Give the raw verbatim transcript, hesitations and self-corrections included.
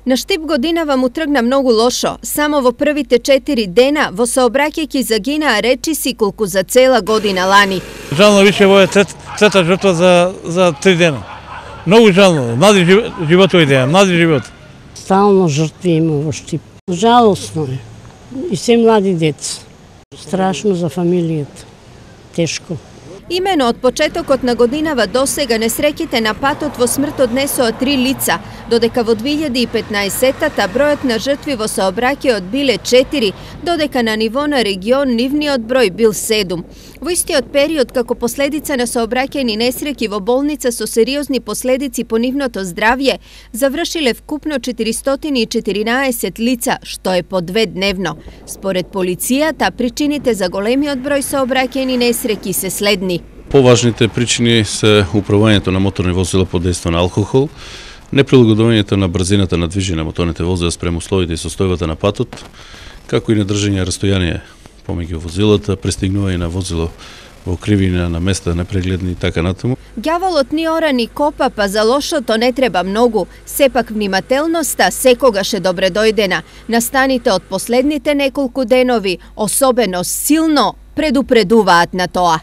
На Штип годинава му тргна многу лошо. Само во првите четири дена во сообраќајки загинаа речиси колку за цела година лани. Жално више во е трет, трета жртва за, за три дена. Многу жално, млади животови дена, млади живот. Стално жртви има во Штип. Жалосно е. И се млади деца. Страшно за фамилијата. Тешко. Имено од почетокот на годинава досега несреќите на патот во смрт однесоа три лица, додека во две илјади и петнаесеттата бројот на жртви во сообраќајот биле четири, додека на ниво на регион нивниот број бил седум. Во истиот период, како последица на сообраќајни несреќи во болница со сериозни последици по нивното здравје, завршиле вкупно четиристотини и четиринаесет лица, што е по две дневно. Според полицијата, причините за големиот број сообраќајни несреќи се следни. Поважните причини се управувањето на моторни возила под дејство на алкохол, неприлагодувањето на брзината на движење на моторните возила спрема условите и состојбата на патот, како и недржање растојание помеѓу возилата, пристигнување на возило во кривина на места непрегледни и така натаму. Ѓаволот ни ора ни копа, па за лошото не треба многу. Сепак внимателноста секогаш е добре дојдена. Настаните од последните неколку денови особено силно предупредуваат на тоа.